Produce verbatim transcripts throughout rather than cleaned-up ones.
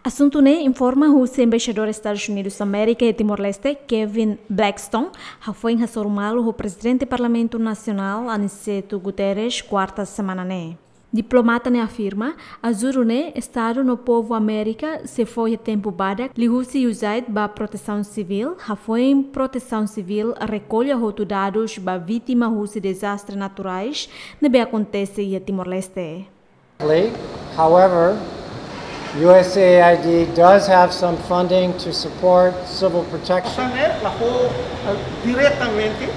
Asuntu ne'e informa husi Embaixadór Estadus Unidus Amérika iha Timor-Leste, Kevin Blackstone, hafoin hasoru malu ho Prezidente Parlamentu Nasionál, Aniceto Guterres, kuarta semana ne'e. Diplomata ne'e afirma, ajuda ne'e Estadu no povu Amérika sei fó iha tempu badak, liuhusi USAID ba Protesaun Sivíl, hafoin Protesaun Sivíl rekolla hotu dadus ba vítima husi dezastre naturais ne'ebé akontese iha Timor-Leste. However, USAID does have some funding to support civil protection. Osan ne'e la fó, eh, diretamente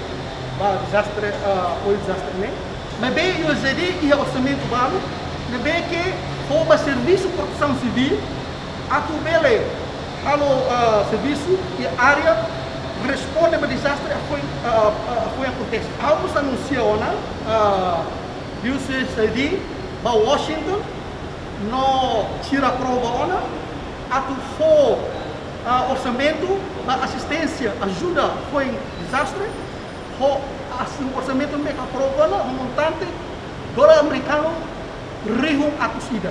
ba dezastre, eh, apoiu dezastre ne'e. Maibé USAID iha orsamentu balu ne'ebé ke fó ba servisu protesaun sivíl atu bele halo, eh, servisu iha área responde ba dezastre hafoin, eh, eh, hafoin akontese. Ha'u mós anunsia ona, eh, USAID ba Washington, no sira aprova ona atu fó, ah, orsamentu ba asisténsia, ajuda hafoin dezastre, ho as-, orsamentu ne'ebé ke aprova ona, ho montante dolar amerikanu rihun atus ida.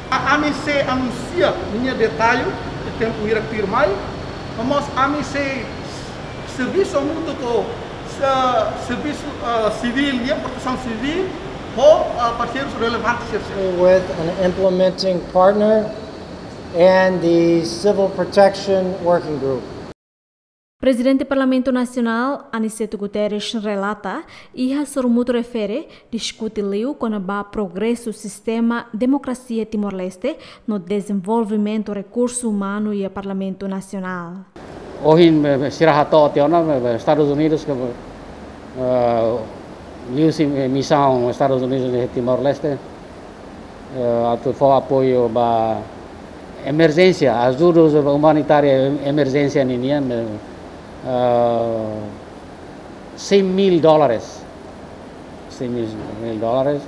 A-, ami sei anunsia ninia detalle iha tempu hirak tuirmai, no mós ami sei servisu hamutuk ho, eh, servisu, eh, sivíl, iha Protesaun Sivíl, ho, eh, parseirus relevante sira-ne'e. With an implementing partner and the Civil Protection Working Group. Prezidente Parlamentu Nasionál, Aniceto Guterres, relata, iha sorumutu refere, diskute liu kona-ba progresu sistema demokrasia Timor-Leste no dezenvolvimentu rekursu umanu iha Parlamentu Nasionál. Ohin, eh, sira hato'o tiha ona, eh, Estadus Unidus ke, eh, liuhusi, eh, misaun Estadus Unidus iha Timor-Leste, eh, atu fó apoiu ba emerjénsia, ajuda umanitária em-, emerjénsia ninian, eh, eh, cem mil dólares. Cem mil dólares.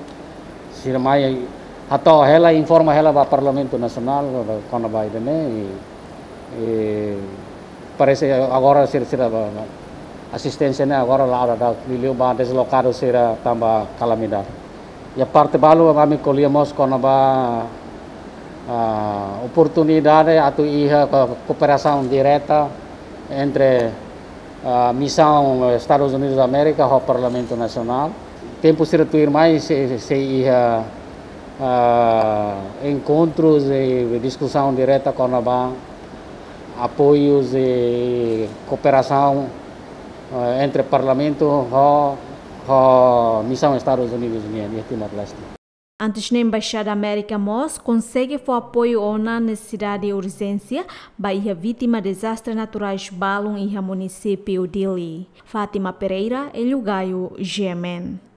Sira mai hato'o hela, informa hela ba Parlamentu Nasionál, ba, kona-ba ida-ne'e, i, i parese agora sira, sira ba, ba, asisténsia ne'e agora la'o dadauk, liuliu ba deslokadu sira tanba kalamidade. Iha parte balu ami ko'alia mós kona-ba, ah, oportunidade atu iha ko-, kooperasaun direta entre, ah, misaun Estadus Unidus Amérika ho Parlamentu Nasionál. Tempu sira tuirmai sei, sei iha, ah, enkontrus i diskusaun direta kona-ba apoius i kooperasaun, eh, entre Parlamentu ho, ho misaun Estadus Unidus nian iha Timor-Leste. Antes ne'e, Embaixada Amérika mós konsege fó apoiu ona nesesidade urjénsia ba iha vítima dezastre naturais balun iha munisípiu Dili. Fátima Pereira, Hélio Gaio, G M N.